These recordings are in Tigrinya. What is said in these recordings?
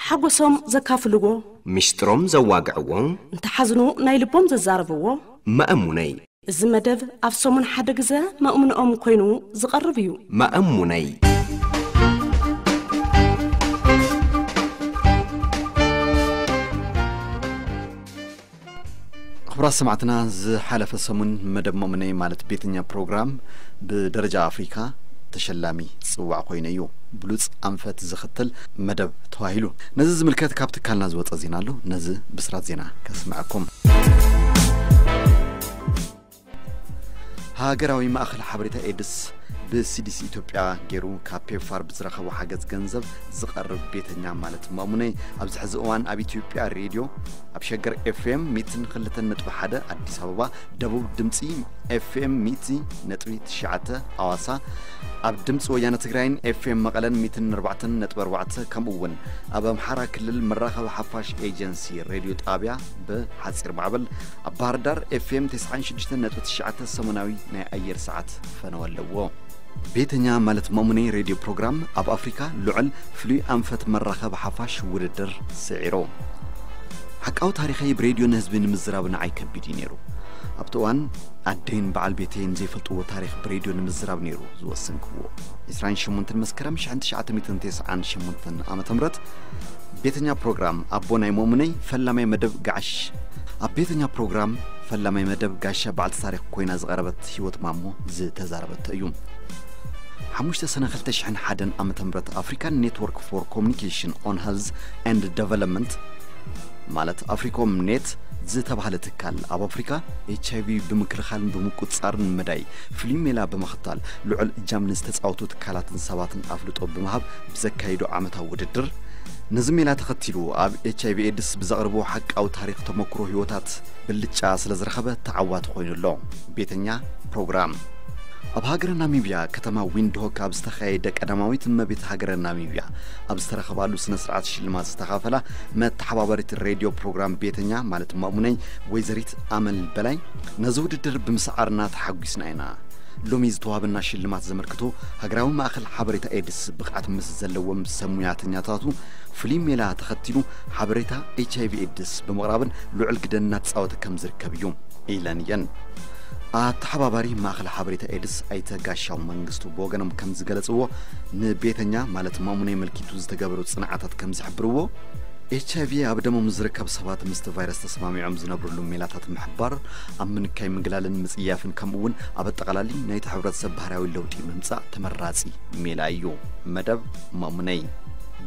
ሓጎሶም ዘካፍልዎ፣ ሚስጥሮም ዘዋግዕዎ፣ እንተሓዝኑ ናይ ልቦም ዘዛረብዎ። መእሙነይ። እዚ መደብ ኣብ ሰሙን ሓደ ግዘ መእሙንኦም ኮይኑ ዝቐርብ እዩ። መእሙነይ። ክቡራት ሰማዕትና፣ ዝሓለፈ ሰሙን መደብ መእሙነይ ማለት ቤተኛ ፕሮግራም ብደረጃ ኣፍሪካ ተሸላሚ ጽዋዕ ኮይኑ እዩ ብሉጽ ኣንፈት ዝኽተል መደብ ተባሂሉ። ነዚ ዝምልከት ካብ ትካልና ዝወጸ ዜና ኣሎ። ነዚ ብስራት ዜና ከስምዐኩም። ሃገራዊ ማእኸል ሓበሬታ ኤድስ ብሲዲሲ ኢትዮጵያ ገይሩ ካብ ፔፋር ብዝረኸቦ ሓገዝ ገንዘብ ዝቐርብ ቤተኛ ማለት መእሙነይ ኣብዚ ሕዚ እዋን ኣብ ኢትዮጵያ ሬድዮ ኣብ ሸገር ኤፍኤም ሚትን ክልተን ነጥቢ ሓደ ኣዲስ ኣበባ፣ ደቡብ ድምፂ ኤፍኤም ሚቲ ነጥቢ ትሽዓተ ኣዋሳ፣ ኣብ ድምፂ ወያነ ትግራይን ኤፍኤም መቐለን ሚትን ኣርባዕተን ነጥቢ ኣርባዕተ ከምኡ እውን ኣብ ኣምሓራ ክልል መራኸቢ ሓፋሽ ኤጀንሲ ሬድዮ ጣብያ ብሓፂር ማዕበል ኣብ ባህር ዳር ኤፍኤም ተስዓን ሽዱሽተን ነጥቢ ትሽዓተ ሰሙናዊ ናይ ኣየር ሰዓት ፈነወ ኣለዎ። ቤተኛ ማለት መእሙነይ ሬድዮ ፕሮግራም ኣብ ኣፍሪካ ልዑል ፍሉይ ኣንፈት መራኸቢ ሓፋሽ ውድድር ስዒሮ። ሓቃዊ ታሪኸይ ብሬድዮ ንህዝቢ ንምዝራብ ንዓይ ከቢድ እዩ ነይሩ። ኣብቲ እዋን ኣደይን በዓል ቤተይን ዘይፈልጥዎ ታሪኽ ብሬድዮ ንምዝራብ ነይሩ ዝወሰንክዎ። ዕስራን ሸሞንተን መስከረም ሽሕን ትሽዓተ ሚእትን ተስዓን ሸሞንተን ዓመተ ምህረት ቤተኛ ፕሮግራም ኣቦ ናይ መእሙነይ ፈላማይ መደብ ጋሽ ኣብ ቤተኛ ፕሮግራም ፈላማይ መደብ ጋሻ በዓልቲ ታሪኽ ኮይና ዝቐረበት ህይወት ማሞ ዝተዛረበቶ እዩ። ሓሙሽተ ሰነ ክልተ ሽሕን ሓደን ዓመተ ምህረት ኣፍሪካን ኔትወርክ ፎር ኮሚኒኬሽን ኦን ሄልዝ ኤንድ ደቨሎፕመንት ማለት ኣፍሪኮም ኔት ዝተባህለ ትካል ኣብ ኣፍሪካ ኤች ኣይ ቪ ብምክልኻልን ብምቁፅፃርን መዳይ ፍሉይ ሜላ ብምኽታል ልዑል እጃም ንዝተፃወቱ ትካላትን ሰባትን ኣፍልጦ ብምሃብ ብዘካይዶ ዓመታዊ ውድድር ነዚ ሜላ ተኸቲሉ ኣብ ኤች ኣይ ቪ ኤድስ ብዘቕርቦ ሓቃዊ ታሪኽ ተመክሮ ህይወታት ብልጫ ስለ ዝረኸበ ተዓዋቲ ኮይኑ ኣሎ። ቤተኛ ፕሮግራም ኣብ ሃገረ ናሚብያ ከተማ ዊንድሆክ ኣብ ዝተኻየደ ቀዳማዊት እመቤት ሃገረ ናሚብያ ኣብ ዝተረኸባሉ ስነ ስርዓት ሽልማት ዝተኻፈላ መተሓባበሪት ሬድዮ ፕሮግራም ቤተኛ ማለት ማእሙነይ ወይዘሪት ኣመል በላይ ነዚ ውድድር ብምስዓርና ተሓጒስና ኢና። ሎሚ ዝተዋህበና ሽልማት ዘመልክቶ ሃገራዊ ማእኸል ሓበሬታ ኤድስ ብቕዓት ምስ ዘለዎም ሰብ ሙያተኛታቱ ፍሉይ ሜላ ተኸቲሉ ሓበሬታ ኤች ኣይ ቪ ኤድስ ብምቕራብን ልዑል ግደ እናተፃወተ ከም ዝርከብ እዩ ኢለን እየን። ኣተሓባባሪ ማእኸል ሓበሬታ ኤድስ ኣይተ ጋሻው መንግስቱ ብወገኖም ከም ዝገለፅዎ ንቤተኛ ማለት ማሙነይ መልኪቱ ዝተገበሩ ፅንዓታት ከም ዝሕብርዎ ኤች ኣይ ቪ ኣብ ደሞም ዝርከብ ሰባት ምስቲ ቫይረስ ተሰማሚዖም ዝነብርሉ ሜላታት ምሕባር ኣብ ምንካይ ምግላልን ምፅያፍን ከምኡ እውን ኣብ ኣጠቓላሊ ናይቲ ሕብረተሰብ ባህርያዊ ለውጢ ምምፃእ ተመራፂ ሜላ እዩ። መደብ ማሙነይ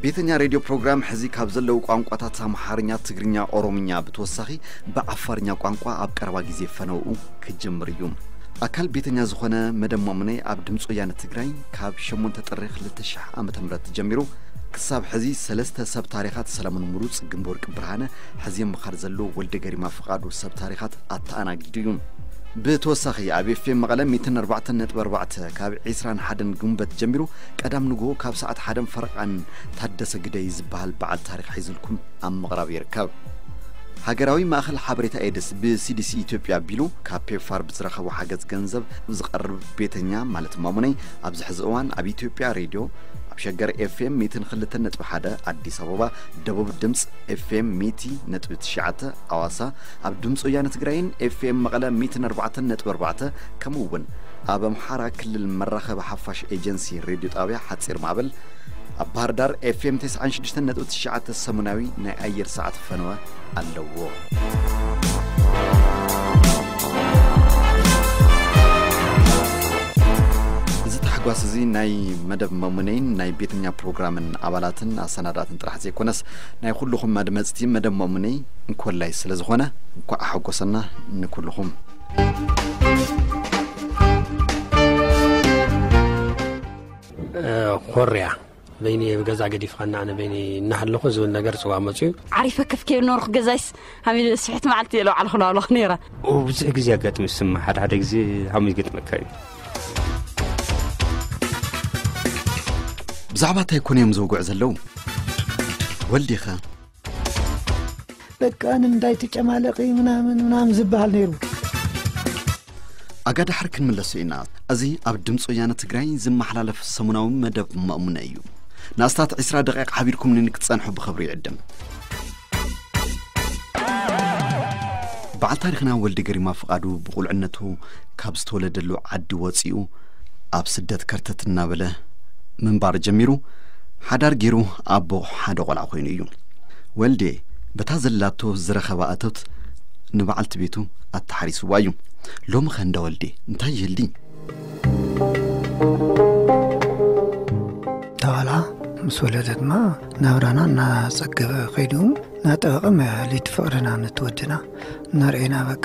ቤተኛ ሬድዮ ፕሮግራም ሕዚ ካብ ዘለዉ ቋንቋታት ኣምሓርኛ፣ ትግርኛ፣ ኦሮምኛ ብተወሳኺ ብዓፋርኛ ቋንቋ ኣብ ቀረባ ግዜ ፈነውኡ ክጅምር እዩ። ኣካል ቤተኛ ዝኾነ መደብ ማሙነይ ኣብ ድምፂ ወያነ ትግራይ ካብ ሸሞንተ ጥሪ ክልተ ሽሕ ዓመተ ምህረት ጀሚሩ ክሳብ ሕዚ ሰለስተ ሰብ ታሪኻት ሰለሙን ምሩፅ፣ ግንበወርቂ ብርሃነ፣ ሕዚ ምኻር ዘሎ ወልደ ገሪማ ፍቓዱ ሰብ ታሪኻት ኣተኣናጊዱ እዩ። ብተወሳኺ ኣብ ኤፍኤም መቐለ ሚእትን ኣርባዕተን ነጥቢ ኣርባዕተ ካብ ዕስራን ሓደን ግንቦት ጀሚሩ ቀዳም ንግሆ ካብ ሰዓት ሓደን ፈረቓን ታደሰ ግደይ ዝበሃል በዓል ታሪኽ ሒዙልኩም ኣብ ምቕራብ ይርከብ። ሃገራዊ ማእኸል ሓበሬታ ኤድስ ብሲዲሲ ኢትዮጵያ ኣቢሉ ካብ ፔፋር ብዝረኸቦ ሓገዝ ገንዘብ ዝቐርብ ቤተኛ ማለት ማሙነይ ኣብዚ ሕዚ እዋን ኣብ ኢትዮጵያ ሬድዮ ኣብ ሸገር ኤፍኤም ሚእትን ክልተን ነጥቢ ሓደ ኣዲስ ኣበባ፣ ደቡብ ድምፅ ኤፍኤም ሚእቲ ነጥቢ ትሽዓተ ኣዋሳ፣ ኣብ ድምፂ ወያነ ትግራይን ኤፍኤም መቐለ ሚእትን ኣርባዕተን ነጥቢ ኣርባዕተ ከምኡ እውን ኣብ ኣምሓራ ክልል መራኸቢ ሓፋሽ ኤጀንሲ ሬድዮ ጣብያ ሓፂር ማዕበል ኣብ ባህር ዳር ኤፍኤም ተስዓን ሽዱሽተን ነጥቢ ትሽዓተ ሰሙናዊ ናይ ኣየር ሰዓት ፈነወ ኣለዎ። እዚ ታሕጓስ እዚ ናይ መደብ መሙነይን ናይ ቤተኛ ፕሮግራምን ኣባላትን ኣሰናዳእትን ጥራሕ ዘይኮነስ ናይ ኩልኹም ኣድመፅቲ መደብ መሙነይ እንኮላይ ስለ ዝኾነ እንኳዕ ሓጎሰና ንኩልኹም። ኮርያ በይኒ ብገዛ ገዲፍኻና ኣነ በይኒ እናሃለኹ ዝብል ነገር ጽዋ መጽዩ። ዓሪፈ ከፍ ከይብል ነበርኩ ገዛይስ ሃሚለ ስሕት መዓልቲ እየ ለውዓል ክለዋለኹ ነይረ። ብዙሕ ግዜ ኣጋጥም ይስማ ሓደ ሓደ ግዜ ሃሙ ይገጥመካ እዩ። ብዛዕባ እንታይ ኮነ እዮም ዘውግዑ ዘለዉ? ወልዲኸ በቃ ንእንዳይ ትጨማለቂ ምናምን ምናምን ዝበሃል ነይሩ። ኣጋ ዳሕር ክንምለሶ ኢና። እዚ ኣብ ድምፂ ወያነ ትግራይ ዝመሓላለፍ ሰሙናዊ መደብ ማእሙነ እዩ። ንኣስታት ዕስራ ደቂቕ ሓቢርኩምኒ ክትጸንሑ ብኽብሪ ይዕድም። በዓል ታሪኽና ወልደ ገሪማ ፍቓዱ ብቑልዕነቱ ካብ ዝተወለደሉ ዓዲ ወጺኡ ኣብ ስደት ከርተት እናበለ ምንባር ጀሚሩ፣ ሓዳር ገይሩ ኣቦ ሓደ ቆልዓ ኮይኑ እዩ። ወልዴ በታ ዘላቶ ዝረኸባ እቶት ንበዓልቲ ቤቱ ኣተሓሪስዋ እዩ። ሎሚ ኸ እንዳ ወልዴ እንታይ ይህልዲ? እታ ቆልዓ ምስ ወለደት ድማ ናብራና እናጸገበ ከይዱ፣ እናጠበቐ መ- ለይቲ ፍቕርና ነቲ ወድና እናርኤና በቃ።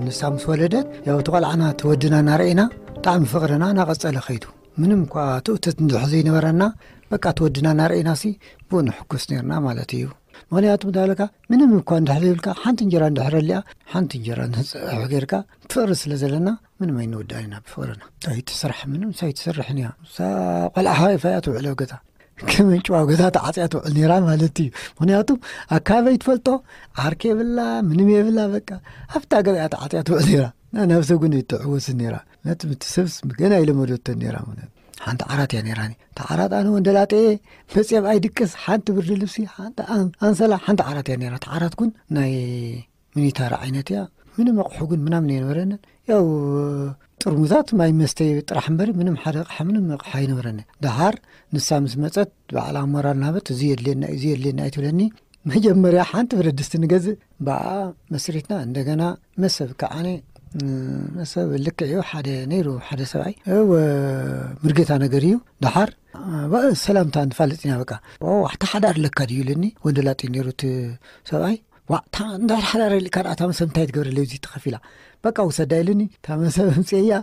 ንሳ ምስ ወለደት ያው እቲ ቆልዓና እቲ ወድና እናርኤና ብጣዕሚ ፍቕርና እናቐጸለ ከይዱ። ምንም እኳ ትእትት እንድሕ ዘይነበረና በቃ እቲ ወድና እናርኤና ሲ ብኡ ንሕኩስ ነርና ማለት እዩ። ምኽንያቱ ምዳለካ ምንም እኳ እንድሕ ዘይብልካ ሓንቲ እንጀራ እንድሕር ኣሊያ ሓንቲ እንጀራ ንፅብሒ ጌርካ ፍቕሪ ስለ ዘለና ምንም ኣይንወዳእን ኢና ብፍቕርና። ኣይትስራሕ ምንም ሳይትሰርሕን እያ። እሳ ቆልዓ ሓይፋ እያ ትውዕል ኣብ ገዛ። ከም ጭዋ ኣብ ገዛ ተዓፅያ ትውዕል ነይራ ማለት እዩ። ምኽንያቱ ኣካባቢ ትፈልጦ ዓርኪ የብላ ምንም የብላ በቃ ኣብታ ገዛ እያ ተዓፅያ ትውዕል ነይራ። ናብሰ ጉን ይትዕወስ ነይራ ነቲ ምትሰብስ ገና ይለመደቶ ነይራ ማለት ሓንቲ ዓራት እያ ነይራኒ። ተዓራት ኣነ ወንደላጤ መፅየብ ኣይድቅስ ሓንቲ ብርዲ ልብሲ ሓንቲ ኣን- ኣንሰላ ሓንቲ ዓራት እያ ነይራ። ተዓራት ኩን ናይ ሚኒታር ዓይነት እያ። ምንም ኣቕሑ ግን ምናምን ኣይነበረንን። ያው ጥርሙዛት ማይ መስተይ ጥራሕ እምበሪ ምንም ሓደ ኣቕሓ ምንም ኣቕሓ ኣይነበረንን። ደሓር ንሳ ምስ መፀት ባዕላ ሞራል ናበት እዚ የድልየና እዚ የድልየና ኣይትብለኒ። መጀመርያ ሓንቲ ብረድስቲ ንገዝእ ብኣ መስሪትና እንደገና መሰብ ከዓነ መሰብ ልክዕ እዩ ሓደ ነይሩ ሓደ ሰብኣይ እወ ምርጌታ ነገር እዩ። ደሓር ሰላምታ ንፋለጥ ኢና በቃ። ኣታ ሓዳር ኣለካ ድዩ ኢለኒ ወንደላጤ ነይሩ እቲ ሰብኣይ። ዋዕታ እንድሕር ሓዳር ኢልካ ደኣ እታ መሰብ እንታይ ትገብረለይ እዚ ተኸፊላ በቃ ውሰዳ ኢልኒ እታ መሰብ ኣምፅኤያ።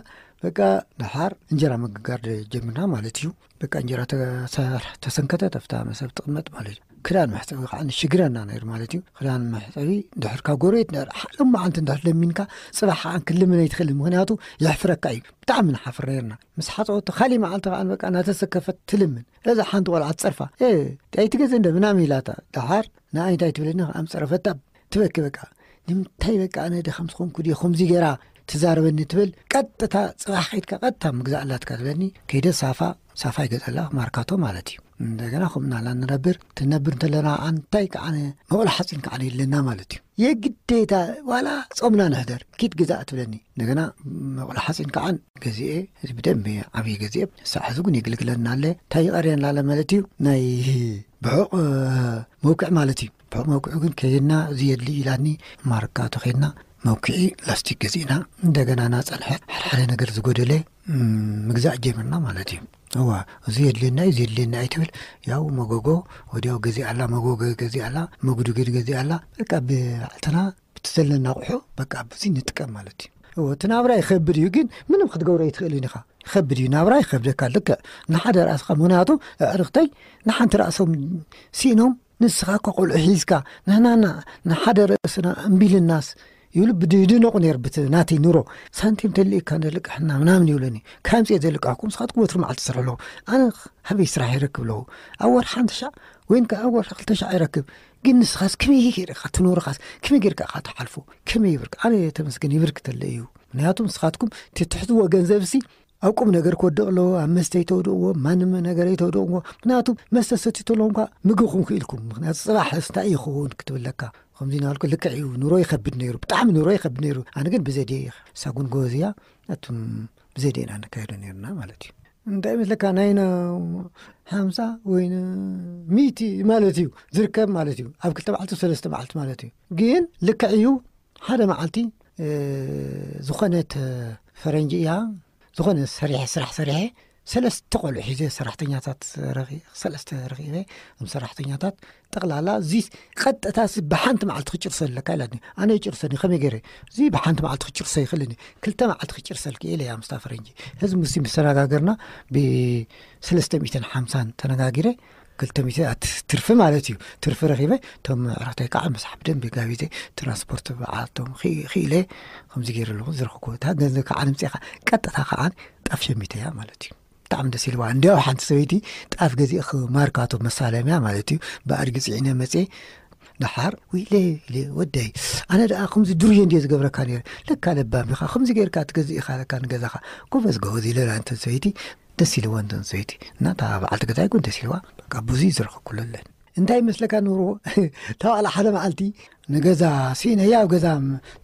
በቃ ደሓር እንጀራ ምግጋር ጀምርና ማለት እዩ። በቃ እንጀራ ተሰር- ተሰንከተት ኣብታ መሰብ ትቕመጥ ማለት እዩ። ክዳን መሕፀቢ ከዓ ንሽግረና ነይሩ ማለት እዩ። ክዳን መሕፀቢ ድሕር ካብ ጎረቤት ነር ሓሎም መዓልቲ እንድሕር ለሚንካ ፅባሕ ከዓ ክልምን ኣይትኽእልን ምክንያቱ የሕፍረካ እዩ። ብጣዕሚ ንሓፍር ነርና። ምስ ሓፀወቶ ካሊእ መዓልቲ ከዓ በቃ እናተሰከፈት ትልምን እዛ ሓንቲ ቆልዓ ትፀርፋ። "እ፣ ኣይትገዝእ እንደ ምናምን ኢላታ ደሓር ንኣይ እንታይ ትብለኒ ከዓ ምፀረፈታ ትበኪ በቃ። ንምንታይ በቃ ኣነ ድኻ ምስ ኾንኩ ድየ ከምዚ ገይራ ትዛረበኒ?" ትብል። ቀጥታ ፅባሕ ከይድካ ቀጥታ ምግዛእ ኣላትካ ትብለኒ። ከይደ ሳፋ ሳፋ ይገዘላ ማርካቶ ማለት እዩ። እንደገና ከምኡ እናላ ንነብር ትነብር እንተለና ከዓ እንታይ ከዓ መቑሎ ሓፂን ከዓ የለና ማለት እዩ። የግዴታ ዋላ ፆምና ንሕደር ኪድ ግዛእ ትብለኒ። እንደገና መቑሎ ሓፂን ከዓ ገዚኤ እዚ ብደንብ ዓብዪ ገዚኤ ሳዕ ሕዚ እውን የግልግለና ኣለ። እንታይ ይቐርየና ኣለ ማለት እዩ ናይ ብሑቕ መውቅዕ ማለት እዩ። ብሑቕ መውቅዑ ግን ከይድና እዚ የድሊ ኢላኒ ማርካ ተኸይድና መውቅዒ ላስቲክ ገዚእና እንደገና ናፀንሐ ሓድሓደ ነገር ዝጎደለ ምግዛእ ጀምርና ማለት እዩ። እዋ እዚ የድልየና እዩ እዚ የድልየና ኣይትብል። ያው መጎጎ ወዲያው ገዚእ ኣላ መጎጎ ገዚእ ኣላ መጉድግድ ገዚእ ኣላ በቃ ብዓልትና ብትዘለና ኣቑሑ በቃ ብዙ ንጥቀም ማለት እዩ። እዎ እቲ ናብራ ይኸብድ እዩ ግን ምንም ክትገብሮ ኣይትኽእልን ኢኻ። ይኸብድ እዩ ናብራ ይኸብደካ ልክዕ ንሓደ ራእስኻ ምክንያቱ ኣዕርኽተይ ንሓንቲ ራእሶም ስኢኖም ንስኻ እኳ ቆልዑ ሒዝካ ንሕናና ንሓደ ርእስና እምቢልናስ ይብሉ ብድድነቑ ነይር ብቲ ናተይ ኑሮ ሳንቲም ተልእካ ንልቅሕና ምናምን ይብለኒ። ካምፅየ ዘልቃሕኩም ንስኻትኩም ወትሪ መዓልቲ ትሰርሑ ኣለኹ ኣነ ሃበይ ስራሕ ይረክብ ኣለኹ። ኣብ ወርሒ ሓንቲ ሻዕ ወይን ከዓ ኣብ ወርሒ ክልተ ሻዕ ይረክብ። ግን ንስኻስ ከመይ ጌርካ ትኑርኻስ ከመይ ጌርካ ኢኻ ትሓልፎ? ከመይ ይብርክ ኣነ ተመስገን ይብርክ ተለ እዩ። ምክንያቱ ንስኻትኩም ትትሕዝዎ ገንዘብ ሲ ኣብ ቁም ነገር ክወድቕ ኣለዎ። ኣብ መስተ ይተውድቕዎ ማንም ነገር ይተውድቕዎ። ምክንያቱ መስተ ሰትዩ ተለኹም ኳ ምግብኹም ክኢልኩም ምክንያቱ ፅባሕ እንታይ ይኸውን ክትብለካ ከምዚ ናልኩ ልክዕ እዩ። ኑሮ ይኸብድ ነይሩ ብጣዕሚ ኑሮ ይኸብድ ነይሩ። ኣነ ግን ብዘዴ ሳጉን ጎበዝ እያ። ኣቱም ብዘዴ ኢና ነካይዶ ነይርና ማለት እዩ። እንታይ ይመስለካ ናይ ሓምሳ ወይ ሚእቲ ማለት እዩ ዝርከብ ማለት እዩ። ኣብ ክልተ መዓልቲ ሰለስተ መዓልቲ ማለት እዩ። ግን ልክዕ እዩ ሓደ መዓልቲ ዝኾነት ፈረንጂ እያ ዝኾነ ሰሪሐ ስራሕ ሰሪሐ ሰለስተ ቆልዑ ሒዘ ሰራሕተኛታት ረኺ- ሰለስተ ረኺበ እም ሰራሕተኛታት ጠቕላላ እዚ ቀጥታ ሲ ብሓንቲ መዓልቲ ክጭርሶ ኣለካ ኢላትኒ። ኣነ ይጭርሰኒ ከመይ ገይረ እዚ ብሓንቲ መዓልቲ ክጭርሶ ይኽእልኒ ክልተ መዓልቲ ክጭርሰልኪ ኢለ እያ ምስታ ፈረንጂ። ህዝቢ ምስ ተነጋገርና ብሰለስተ ሚእትን ሓምሳን ተነጋጊረ ክልተ ሚእቲ ኣት- ትርፊ ማለት እዩ። ትርፊ ረኺበ እቶም ዕረክተይ ከዓ መሳሕ ብደንቢ ጋቢዘ ትራንስፖርት በዓልቶም ክኢለ ከምዚ ገይረ ኣለኹ ዝረኽብኩ እታ ገንዘብ ከዓ ንምፅኻ ቀጥታ ከዓ ጣፍ ሸሚተያ ማለት እዩ። ብጣዕሚ ደስ ኢልዋ እንዲያው ሓንቲ ሰበይቲ ጣፍ ገዚእኽ ማርካቶ መሳለምያ ማለት እዩ። ብኣድጊ ፅዒነ መፅየ ደሓር ውይለ ኢለ ወደይ ኣነ ደኣ ከምዚ ድርዮ እንድየ ዝገብረካ ነይረ። ለካ ለባም ኢኻ ከምዚ ጌርካ ትገዝእ ኢኻ ለካ ንገዛኻ ጎበዝ ጎበዝ ኢለላ እንተ ሰበይቲ ደስ ኢልዋ እንተን ሰይቲ እና እታ በዓልቲ ገዛይ እውን ደስ ኢልዋ። በቃ ብዙ ዝረኸብኩለለን እንታይ ይመስለካ ኑሮ? እታ ባዕላ ሓደ መዓልቲ ንገዛ ስኢነያ ኣብ ገዛ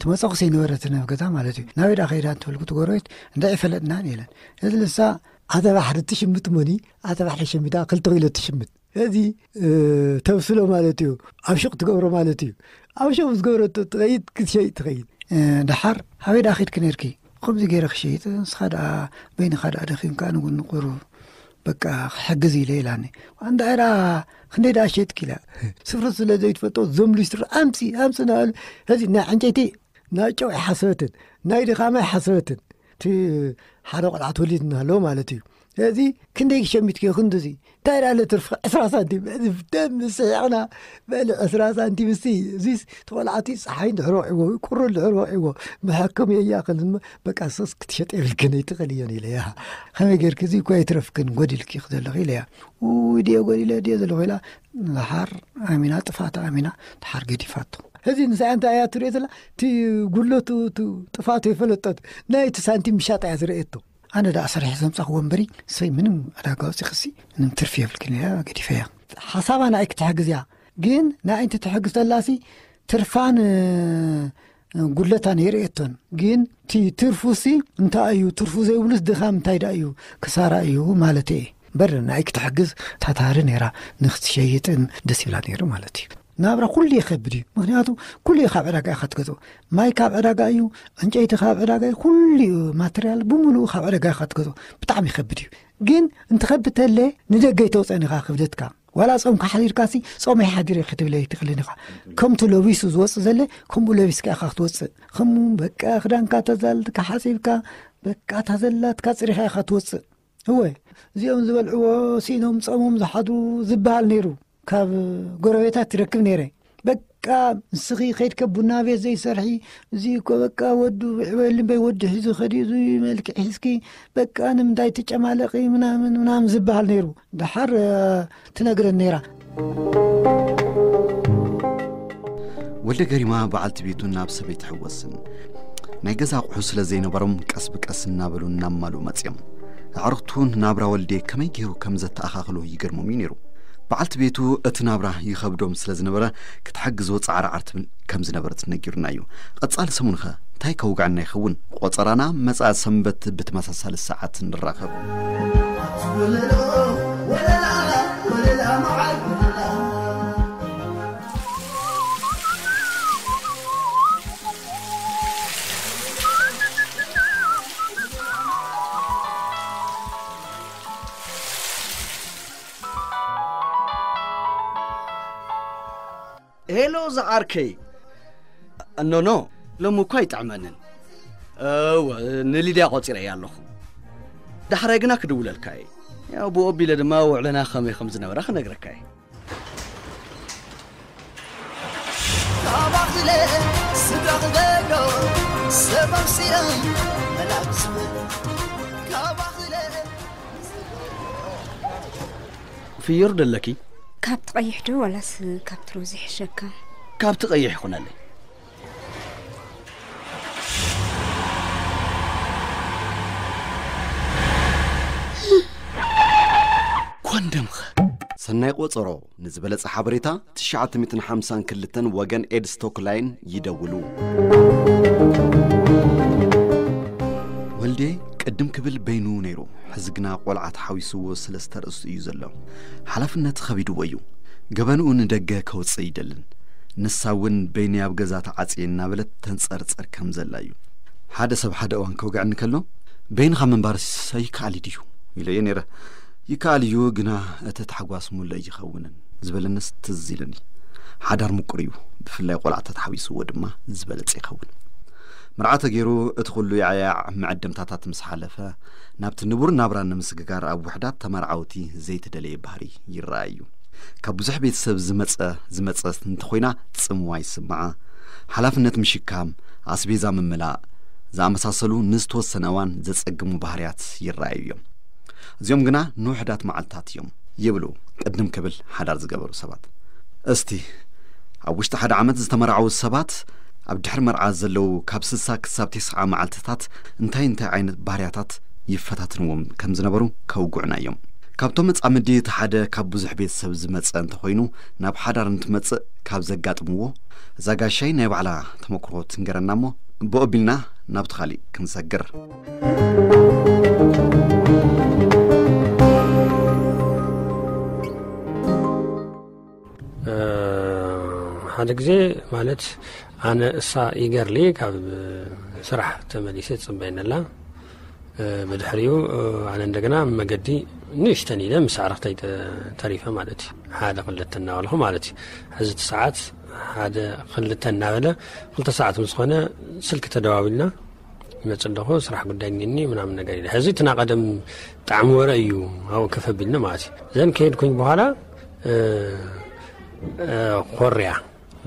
ትመፀኹ ዘይነበረት ናብ ገዛ ማለት እዩ። ናበይ ዳ ከይዳ እንተበልኩ ትጎረቤት እንታይ ይፈለጥና ኢለን። እዚ ልሳ ኣተባሕሪ ትሽምት ሞኒ ኣተባሕሪ ሸሚዳ ክልተ ኪሎ ትሽምት እዚ ተብስሎ ማለት እዩ። ኣብ ሽቕ ትገብሮ ማለት እዩ። ኣብ ሽቕ ምስ ገብረቶ ትኸይድ ክትሸይጥ ትኸይድ። ደሓር ሃበይ ደኣ ኸይድኪ ነርኪ? ከምዚ ገይረ ክሸይጥ ንስኻ ደኣ በይንኻ ደኣ ደኺምካ ንጉኒ ቁሩብ በቃ ክሕግዝ ኢለ ኢላኒ። ኣንዳ ዕራ ክንደይ ደኣ ሸጥኪ ኢላ። ስፍሩ ስለ ዘይትፈልጦ ዞም ሊስትሮ ኣምፂ ኣምፂ እናበሉ ሕዚ ናይ ዕንጨይቲ ናይ ጨው ኣይሓሰበትን ናይ ድኻማ ኣይሓሰበትን። እቲ ሓደ ቆልዓ ተወሊድና ኣሎ ማለት እዩ። እዚ ክንደይ ሸሚትክዮ ክንድዚ እንታይ ደኣ ለትርፊ ዕስራ ሳንቲም እዚ ደም ስሒቕና በሊ ዕስራ ሳንቲም እስቲ እዚስ ተቆልዓቲ ፀሓይ እንድሕር ወዒዎ ቁሪ እንድሕር ወዒዎ መሐከም የያኽል በቃ ሶስ ክትሸጥ የብልክን ኣይትኽእል እዮን ኢለያ። ከመይ ጌርክ እዚ እኮ ኣይትረፍክን ጎዲልኪ ዘለኺ ኢለያ። ውይ ድየ ጎዲለ ድየ ዘለኹ ኢላ። ደሓር ኣሚና ጥፋት ኣሚና ደሓር ገዲፋቶ። እዚ ንሳ እንታይ እያ ትሪኦ ዘላ? እቲ ጉድለቱ እቲ ጥፋቱ የፈለጠት ናይ እቲ ሳንቲም ምሻጥ እያ ዝረእየቶ። ኣነ ደኣ ሰሪሐ ዘምጻኹ ወንበሪ ሰይ ምንም ዕዳጋ ወፂኽሲ ምንም ትርፊ የብልክን እያ ገዲፈያ። ሓሳባ ንኣይ ክትሕግዝ እያ ግን ንኣይ እንተ ትሕግዝ ተላሲ ትርፋን ጉድለታን የርእየቶን። ግን እቲ ትርፉሲ እንታይ እዩ? ትርፉ ዘይብሉስ ድኻም እንታይ ደኣ እዩ? ክሳራ እዩ ማለት እየ። እምበር ንኣይ ክትሕግዝ ታታሪ ነይራ ንክትሸይጥን ደስ ይብላ ነይሩ ማለት እዩ። ናብራ ኩሉ ይኸብድ እዩ። ምክንያቱ ኩሉ ካብ ዕዳጋ ኢኻ ትገዝኦ። ማይ ካብ ዕዳጋ እዩ፣ ዕንጨይቲ ካብ ዕዳጋ እዩ፣ ኩሉ እዩ ማተርያል ብምሉኡ ካብ ዕዳጋ ኢኻ ትገዝኦ። ብጣዕሚ ይኸብድ እዩ። ግን እንትኸብድ ተለ ንደገ ይተውፀን ኢኻ ክብደትካ። ዋላ ጾምካ ሓዲርካሲ ጾመይ ሓዲረ ክትብል ኣይትኽእልን ኢኻ። ከምቲ ለቢሱ ዝወፅእ ዘለ ከምኡ ለቢስካ ኢኻ ክትወፅእ። ከምኡ በቃ ክዳንካ ተዛልካ ሓፂብካ በቃ ታዘላትካ ፅሪኻ ኢኻ ትወፅእ። እወ እዚኦም ዝበልዕዎ ሲኖም ጾሞም ዝሓድሩ ዝበሃል ነይሩ። ካብ ጎረቤታት ትረክብ ነይረ። በቃ ንስኺ ከይድከ ቡና ቤት ዘይሰርሒ እዚ እኮ በቃ ወዱ ዕበል እምበይ ወዱ ሒዙ ከዲኡ እዚ መልክዕ ሒዝኪ በቃ ንምንታይ ትጨማለቂ ምናምን ምናምን ዝበሃል ነይሩ። ደሓር ትነግረን ነይራ። ወልደ ገሪማ በዓልቲ ቤቱ ናብ ሰበይ ትሕወስን ናይ ገዛ ኣቑሑ ስለ ዘይነበሮም ቀስ ብቀስ እናበሉ እናማሉ መፅዮም። ኣዕሩኽቱ ናብራ ወልዴ ከመይ ገይሩ ከም ዘተኣኻኽሎ ይገርሞም እዩ ነይሩ። በዓልቲ ቤቱ እቲ ናብራ ይኸብዶም ስለ ዝነበረ ክትሓግዝዎ ፃዕራዓር ትብል ከም ዝነበረት ነጊሩና እዩ። ቀፃሊ ሰሙንኸ እንታይ ከውግዐና ይኸውን? ቆፀራና መፃ ሰንበት ብተመሳሳሊ ሰዓት ንራኸብ። ሄሎ ዝዓርከይ። ኖኖ፣ ሎሚ እኳ ኣይጥዕመንን። እወ፣ ንሊድያ ቆጺረያ ኣለኹ። ዳሕራይ ግና ክድውለልካ እየ። ያው ብኡ ኣቢለ ድማ ውዕለና ከመይ ከም ዝነበረ ክነግረካ እየ። ካባኽለ ስጋኽ ደሎ ሰብ ኣምሲለ መላክ ዝብል ካባኽለ ፍዮር ደለኪ? ካብቲ ቀይሕ ዶ ዋላስ ካብቲ ሮዝ ይሕሸካ? ካብቲ ቀይሕ ይኹነለይ። ኮንደምኸ? ሰናይ ቆጸሮ ንዝበለጸ ሓበሬታ ትሽዓተ ሚእትን ሓምሳን ክልተን ወገን ኤድስ ቶክላይን ይደውሉ። ወልዴ ቅድም ክብል በይኑ ነይሩ። ሕዚ ግና ቆልዓ ተሓዊስዎ ሰለስተ ኣርእስቱ እዩ ዘሎ። ሓላፍነት ኸቢድዎ እዩ። ገበንኡ ንደገ ከውጽእ ይደልን። ንሳ እውን በይነይ ኣብ ገዛ ተዓጽየ እናበለት ተንጸርጸር ከም ዘላ እዩ። ሓደ ሰብ ሓደ እዋን ከውግዐኒ ከሎ በይንኻ ምንባርስ ኣይከኣል ድዩ ኢለዮ ነይረ። ይከኣል እዩ፣ ግና እቲ ታሕጓስ ሙሉእ ኣይኸውንን ዝበለንስ ትዝ ኢሉኒ። ሓዳር ምቁር እዩ፣ ብፍላይ ቆልዓ ተተሓዊስዎ ድማ ዝበለጸ ይኸውን። መርዓ ተገይሩ እቲ ኩሉ ያዕያዕ መዐደምታታት ምስ ሓለፈ ናብቲ ንቡር ናብራ ንምስግጋር ኣብ ውሕዳት ተመርዓውቲ ዘይተደለየ ባህሪ ይረኣይ እዩ። ካብ ብዙሕ ቤተሰብ ዝመጸ ዝመጸት እንተኾይና ጽምዋ ይስምዓ። ሓላፍነት ምሽካም፣ ኣስቤዛ ምምላእ ዝኣመሳሰሉ ንዝተወሰነ እዋን ዘጸግሙ ባህርያት ይረኣዩ እዮም። እዚኦም ግና ንውሕዳት መዓልታት እዮም ይብሉ ቅድም ክብል ሓዳር ዝገበሩ ሰባት። እስቲ ኣብ ውሽጢ ሓደ ዓመት ዝተመርዓዉ ሰባት ኣብ ድሕሪ መርዓ ዘለዉ ካብ ስሳ ክሳብ ተስዓ መዓልትታት እንታይ እንታይ ዓይነት ባህርያታት ይፈታትንዎም ከም ዝነበሩ ከውግዑና እዮም። ካብቶም መጻምዲ እቲ ሓደ ካብ ብዙሕ ቤተሰብ ዝመጸ እንተኾይኑ፣ ናብ ሓዳር እንትመጽእ ካብ ዘጋጥምዎ፣ እዛ ጋሻይ ናይ ባዕላ ተመክሮ ትንገረና እሞ፣ ብኦቢልና ናብቲ ካሊእ ክንሰግር። ሓደ ግዜ ማለት ኣነ እሳ ይገርሊ ካብ ስራሕ ተመሊሰ ትጽበየኒ ኣላ። ብድሕሪኡ ኣነ እንደገና መገዲ ንእሽተን ኢለ ምስ ኣዕርኽተይ ተሪፈ ማለት እዩ። ሓደ ክልተ እናበልኹ ማለት እዩ። ሕዚ እቲ ሰዓት ሓደ ክልተ እናበለ ክልተ ሰዓት ምስ ኾነ ስልኪ ተደዋዊልና ይመጽእ ኣለኹ፣ ስራሕ ጉዳይ እኒኒ ምናምን ነገር ኢለ። ሕዚ እቲ ናቐደም ጣዕሚ ወረ እዩ ኣብኡ ከፈቢልኒ ማለት እዩ። ዘን ከሄድኩኝ በኋላ ኮርያ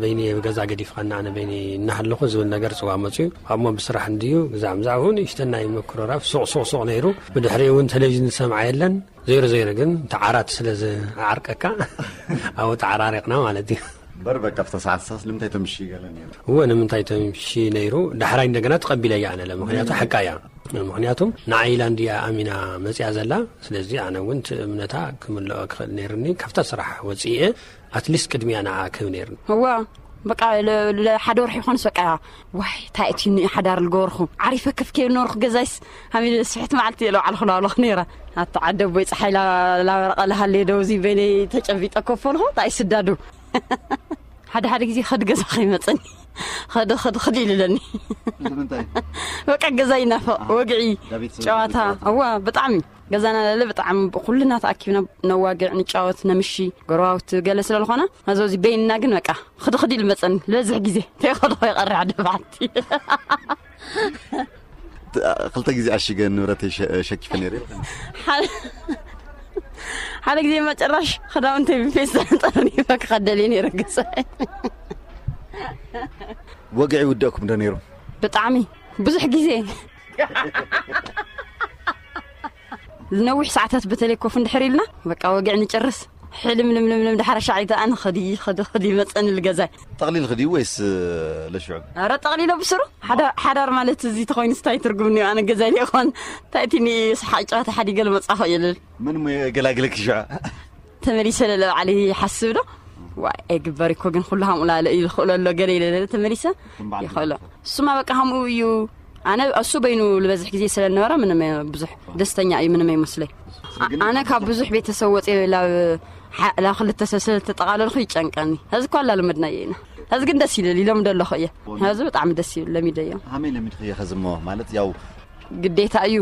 በይኒ ገዛ ገዲፍኻና ኣነ በይኒ እናሃለኹ ዝብል ነገር ጽዋ መጽዩ። ኣብሞ ብስራሕ እንድዩ ብዛዕባ ብዛዕባኡ ንእሽተን ናይ ምክርራፍ ሱቕ ሱቕ ሱቕ ነይሩ። ብድሕሪኡ እውን ቴሌቪዥን ዝሰምዓ የለን። ዘይሩ ዘይሩ ግን ተዓራት ስለ ዝዓርቀካ ኣብኡ ተዓራሪቕና ማለት እዩ። እምበር በቃ ኣብታ ሰዓት ሳስ ንምንታይ ተምሺ ገለ ነይሩ? እወ ንምንታይ ተምሺ ነይሩ። ዳሕራይ እንደገና ተቐቢለያ ኣነ ለምኽንያቱ ሓቃ እያ። ምኽንያቱም ንዓይ ኢላ እንድያ ኣሚና መጽያ ዘላ። ስለዚ ኣነ እውን እቲ እምነታ ክምልኦ ክኽእል ነይርኒ ካብታ ስራሕ ወጽኤ ኣትሊስት ቅድሚያ ንዓ ክህብ ነይርኒ። እዋ በቃ ሓደ ወርሒ ይኾንስ በቃ ዋይ እንታይ እቲ ሓዳር ልገበርኹ ዓሪፈ ከፍ ከይብል ነበርኩ ገዛይስ ሃሚለ ስሕት መዓልቲ እየ ለባዕልኹ ላብለኹ ነይረ። ኣቲ ዓደ ኣቦይ ፀሓይ ላበረቐ ላሃለየ ደውዚ በይነይ ተጨቢጠ ኮፍ በልኹ እንታይ ስዳዱ ሓደ ሓደ ግዜ ከዲ ገዛ ከይመፀኒ ከዲ ከዲ ከዲ ኢልለኒ በቃ ገዛ ይናፈቕ ወግዒ ጨዋታ እዋ ብጣዕሚ ገዛና ለለ ብጣዕሚ ኩልና ተኣኪብና ነዋግዕ ንጫወት ነምሺ ጎረባብቲ ገለ ስለልኾነ ነዞዚ በይንና ግን በቃ ክዲ ክዲ ኢሉ መፀኒ ዝበዝሕ ግዜ ተይኸድኾ ይቐርሕ ደፋዕቲ ክልተ ግዜ ኣሽገ ንብረተይ ሸኪፈ ነይረ ሓደ ግዜ መጨራሽ ክዳውንተይ ብፌስታል ጠርኒፈ ክኸደል ነይረ ገዛይ ወግዒ ይውደእኩም ዶ ነይሩ ብጣዕሚ ብዙሕ ግዜ ዝነዊሕ ሰዓታት በተለይ ኮፍ እንድሕር ኢልና በቃ ወግዕ ንጨርስ ሕልም ልምልምልም ድሓር ሻዒ ተኣ ንኸዲ ኸዲ ኸዲ መፀኒ ልገዛይ ጠቕሊል ኽዲ ወይስ ለሽዑ ኣረ ጠቕሊሎ ብስሩ ሓዳር ማለት እዚ ተኾይኑ ስታይ ትርጉም እኒኦ ኣነ ገዛይ ሊኾን እንታይ እቲ ስሓቅ ጨዋታ ሓዲገ ልመፃኹ እየ ልብል ምን ሞ የገላግለኪ ሽዑ ተመሊሰ ለለ ባዕሊ ይሓስብ ዶ ዋይ ኣይግበር እኮ ግን ኩሉ ሃምኡ ላለ እዩ ዝኽእሎ ኣሎ ገለ ኢለ ለለ ተመሊሰ ይኽእሎ እሱማ በቃ ሃምኡ እዩ ኣነ እሱ በይኑ ዝበዝሕ ግዜ ስለ ነበረ ምንም ብዙሕ ደስተኛ እዩ ምንም ኣይመስለይ ኣነ ካብ ብዙሕ ቤተሰብ ወፅየ ላብ ላብ ክልተ ሰብ ስለ ተጠቃለልኩ ይጨንቀኒ ሕዚ እኳ ኣላለመድናዮ ኢና ሕዚ ግን ደስ ይብል ይለምዶ ኣለኹ እየ ሕዚ ብጣዕሚ ደስ ይብል ለሚደዮ ሃመይ ለሚድክዮ ሕዚ እሞ ማለት ያው ግዴታ እዩ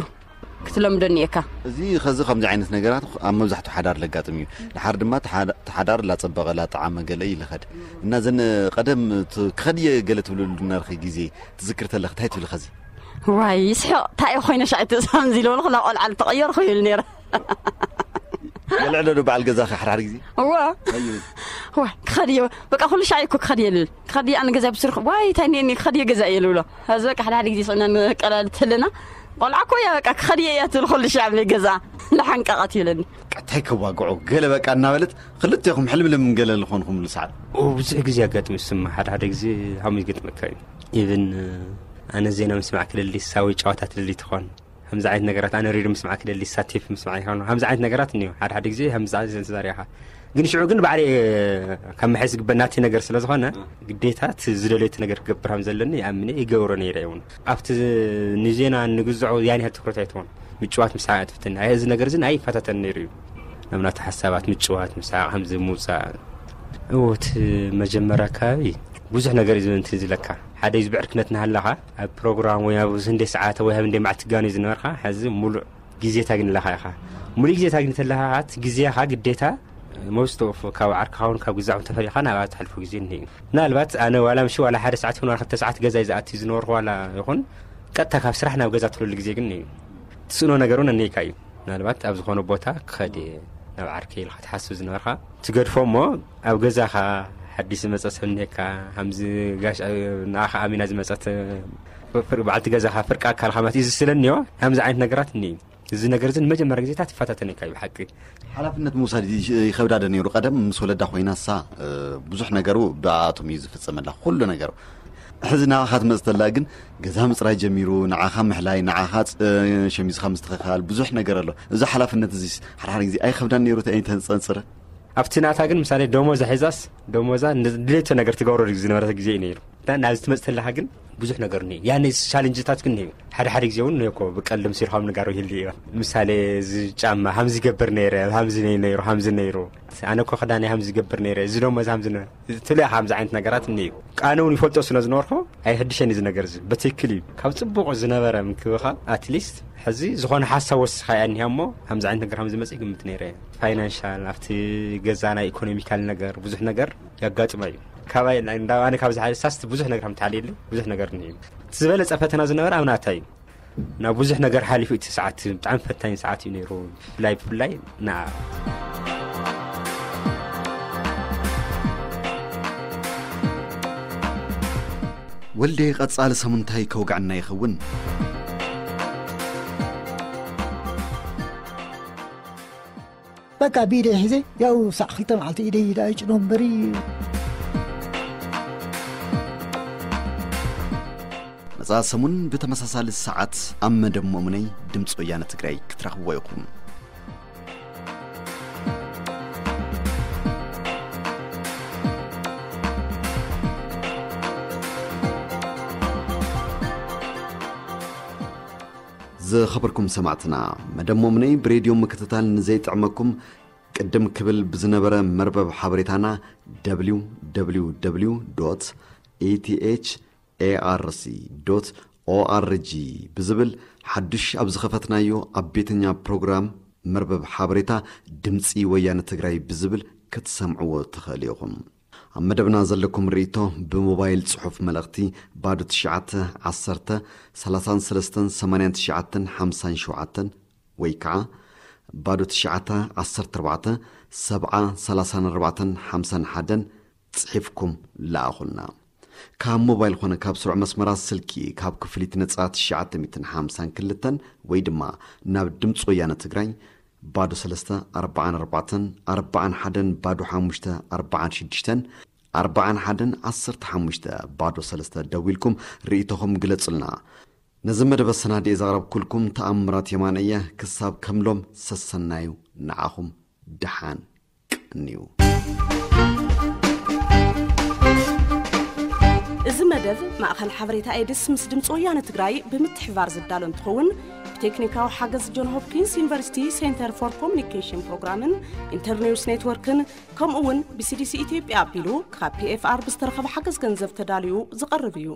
ክትለምዶ እኒኤካ። እዚ ኸዚ ከምዚ ዓይነት ነገራት ኣብ መብዛሕትኡ ሓዳር ለጋጥም እዩ። ድሓር ድማ እቲ ሓዳር ላጸበቐ ላጠዓመ ገለ እዩ ልኸድ እና ዘን ቀደም ክኸድየ ገለ ትብልሉ ነርኺ ግዜ ትዝክር ተለኺ እንታይ ትብሊ ኸዚ? ዋይ ይስሕቕ እንታይ እየ ኮይነ ሻዕ እቲ ከምዚ ኢለ በልኹ ናብ ቆልዓ ልተቐየርኹ ይብል ነይረ። ገለ ዕለሉ በዓል ገዛኺ ሓድሓድ ግዜ? እዋ። እንታይ ይብል? ዋይ ክኸድዮ በቃ ኩሉ ሻዕ እኮ ክኸድየ ልብል። ክኸድየ ኣነ ገዛ ብስርክ ዋይ እንታይ እኒአኒ ክኸድየ ገዛ እየ ልብሎ። ሕዚ በቃ ሓደ ሓደ ግዜ ስዕና ንቀላል ተለና ቆልዓ እኮ እያ በቃ ክኸድየ እያ ትብል ኩሉ ሻዕ ኣብ ገዛ። ለሓንቀቐት ይብለኒ። እንታይ ከዋግዖ ገለ በቃ እናበለት ክልቴኹም ሕልምልም ገለ ዝኾንኹምሉ ሰዓት። ብዙሕ ግዜ ኣጋጥም ይስማ ሓደ ሓደ ግዜ ሃሙ ይገጥመካ እዩ። ኢቭን ኣነ ዜና ምስማዕ ክደሊ ሳዊ ጨዋታ ትደሊ ትኾን ከምዚ ዓይነት ነገራት ኣነ ሬድዮ ምስማዕ ክደሊ ሳቴፍ ምስማዕ ይኾን ከምዚ ዓይነት ነገራት እኒዮ ሓደ ሓደ ግዜ ከምዚ ዓይነት ተዛሪኻ ግን ሽዑ ግን ባዕለ ካብ መሐዝ ዝግበእ ናቲ ነገር ስለ ዝኾነ ግዴታ እቲ ዝደለዮ እቲ ነገር ክገብር ከም ዘለኒ ይኣምን እየ ይገብሮ ነይረ እውን ኣብቲ ንዜና ንግዝዖ ያን ያህል ትኩረት ኣይትኾን ምጭዋት ምስሓቅ ትፍትን ኣይ እዚ ነገር እዚ ናይ ይፈታተን ነይሩ እዩ ናብ ናቲ ሓሳባት ምጭዋት ምስሓቅ ከምዚ ምውፃእ እዎ እቲ መጀመርያ ኣካባቢ ብዙሕ ነገር እዩ እንትን ዝለካ ሓደ እዩ ዝብዕርክነት እናሃለኻ ኣብ ፕሮግራም ወይ ኣብ ህንደ ሰዓተ ወይ ኣብ ህንደ መዓልቲ ጋኑ ዝነበርካ ሕዚ ሙሉእ ግዜ ታግኒ ኣለኻ ኢኻ ሙሉእ ግዜ ታግኒ ተለኻ እቲ ግዜኻ ግዴታ most of ካብ ዓርክኻ እውን ካብ ግዛዕ ተፈሊኻ ናብኣ ተሕልፎ ግዜ እኒሀ እዩ ምናልባት ኣነ ዋላ ምሽ ዋላ ሓደ ሰዓት ይኹን ዋላ ክልተ ሰዓት ገዛይ ዝኣቲ ዝነበርኩ ዋላ ይኹን ቀጥታ ካብ ስራሕ ናብ ገዛ ትለሉ ግዜ ግን እዩ ትስእኖ ነገር እውን እኒካ እዩ ምናልባት ኣብ ዝኾነ ቦታ ክኸድ እየ ናብ ዓርከይ ኢልካ ትሓስብ ዝነበርካ ትገድፎ እሞ ኣብ ገዛኻ ሓዲስ ዝመፀ ሰብ እኒካ ከምዚ ጋሽ ንኣኻ ኣሚና ዝመፀት በዓልቲ ገዛኻ ፍርቂ ኣካልካ ማለት እዩ ዝስለኒዮ ከምዚ ዓይነት ነገራት እኒ እዚ ነገር እዚ ንመጀመርያ ግዜታት ይፈታተነካ እዩ ብሓቂ ሓላፍነት ምውሳድ ይኸብዳ ዶ ነይሩ ቀደም ምስ ወለዳ ኮይና እሳ ብዙሕ ነገሩ ብኣኣቶም እዩ ዝፍፀመላ ኩሉ ነገሩ ሕዚ ንዓኻ ትመጽእ ተላ ግን ገዛ ምጽራይ ጀሚሩ፣ ንዓኻ ምሕላይ፣ ንዓኻ ሸሚዝኻ ምስትኽኻል፣ ብዙሕ ነገር ኣሎ። እዚ ሓላፍነት እዚስ ሓድሓደ ግዜ ኣይኸብዳን ነይሩ? ተንጸንጽረ ኣብቲ ናታ ግን ምሳሌ ደሞዛ ሒዛስ ደሞዛ ድሌቶ ነገር ትገብረሉ ዝነበረት ግዜ እዩ ነይሩ። ናብዚ ትመጽእ ተለኻ ግን ብዙሕ ነገር እኒሄ። ያኔ ቻሌንጅታት ግን እኒሄ። ሓደ ሓደ ግዜ እውን እኮ ብቀልድም ሲርሖም ንጋሩ ይህሉ እዩ። ምሳሌ እዚ ጫማ ሃምዚ ይገብር ነይረ፣ ሃምዚ ነይ- ነይሩ፣ ሃምዚ ነይሩ። ኣነ እኮ ክዳን ሃምዚ ይገብር ነይረ፣ እዚ ደሞዛ ሃምዚ ነ- ትብልያ ከምዚ ዓይነት ነገራት እኒሄ። ኣነ እውን ይፈልጦ ስለ ዝነበርኩ ኣይሕድሸን እዚ ነገር እዚ በትክክል እዩ። ካብ ጽቡቕ ዝነበረ ምክብኻብ ኣትሊስት ሕዚ ዝኾነ ሓሳብ ወስኻ እያ እኒሃ እሞ ከምዚ ዓይነት ነገር ከምዚ መጽእ ግምት ነይረ። ፋይናንሻል ኣብቲ ገዛ ናይ ኢኮኖሚካል ነገር ብዙሕ ነገር ያጋጥመ እዩ። ካባይ እንዳ ኣነ ካብ ዝሓሳስት ብዙሕ ነገር ከም ተሓልየለይ ብዙሕ ነገር እኒሄ። እቲ ዝበለጸ ፈተና ዝነበረ ኣብ ናታ እዩ። ናብ ብዙሕ ነገር ሓሊፉ እቲ ሰዓት ብጣዕሚ ፈታኝ ሰዓት እዩ ነይሩ። ብፍላይ ብፍላይ ንዓ ወልዴ ቀጻሊ ሰሙን እንታይ ከውግዐና ይኸውን? በቃ ብኢደይ ሒዘ ያው ሳዕ ክልተ መዓልቲ ኢደይ ኢዳ ኣይጭኖ እምበሪ። መጻኢ ሰሙን ብተመሳሳሊ ሰዓት ኣብ መደብ ሞእምነይ ድምፂ ወያነ ትግራይ ክትረኽብዎ ኢኹም። ዝኸበርኩም ሰማዕትና፣ መደብ ሞምነይ ብሬድዮ ምክትታል ንዘይጥዕመኩም ቅድም ክብል ብዝነበረ መርበብ ሓበሬታና www ኤቲኤች ኤኣርሲ ኦኣርጂ ብዝብል ሓዱሽ ኣብ ዝኸፈትናዮ ኣብ ቤተኛ ፕሮግራም መርበብ ሓበሬታ ድምፂ ወያነ ትግራይ ብዝብል ክትሰምዕዎ ትኽእል ኢኹም። ኣብ መደብና ዘለኩም ርእይቶ ብሞባይል ጽሑፍ መልእኽቲ ባዶ ትሽዓተ ዓሰርተ ሰላሳን ሰለስተን ሰማንያን ትሽዓተን ሓምሳን ሸውዓተን ወይ ከዓ ባዶ ትሽዓተ ዓሰርተ ኣርባዕተ ሰብዓ ሰላሳን ኣርባዕተን ሓምሳን ሓደን ጽሒፍኩም ለኣኹልና። ካብ ሞባይል ኾነ ካብ ስሩዕ መስመራት ስልኪ ካብ ክፍሊት ነጻ ትሽዓተ ሚእትን ሓምሳን ክልተን ወይ ድማ ናብ ድምፂ ወያነ ትግራይ ባዶ ሰለስተ ኣርባዓን ኣርባዕተን ኣርባዓን ሓደን ባዶ ሓሙሽተ ኣርባዓን ሽዱሽተን ኣርባዓን ሓደን ዓሰርተ ሓሙሽተ ባዶ ሰለስተ ደዊልኩም ርእይቶኹም ግለጹልና። ነዚ መደብ ኣሰናድኤ ዘቕረብኩልኩም ተኣምራት የማነ እየ። ክሳብ ከምሎም ሰሰናዩ ንዓኹም ደሓን ቅንዩ። እዚ መደብ ማእኸል ሓበሬታ ኤድስ ምስ ድምፂ ወያነ ትግራይ ብምትሕባር ዝዳሎ እንትኸውን ብቴክኒካዊ ሓገዝ ጆን ሆፕኪንስ ዩኒቨርሲቲ ሴንተር ፎር ኮሚኒኬሽን ፕሮግራምን ኢንተርኒውስ ኔትወርክን ከምኡ እውን ብሲዲሲ ኢትዮጵያ ኣቢሉ ካብ ፒኤፍኣር ብዝተረኸበ ሓገዝ ገንዘብ ተዳልዩ ዝቐርብ እዩ።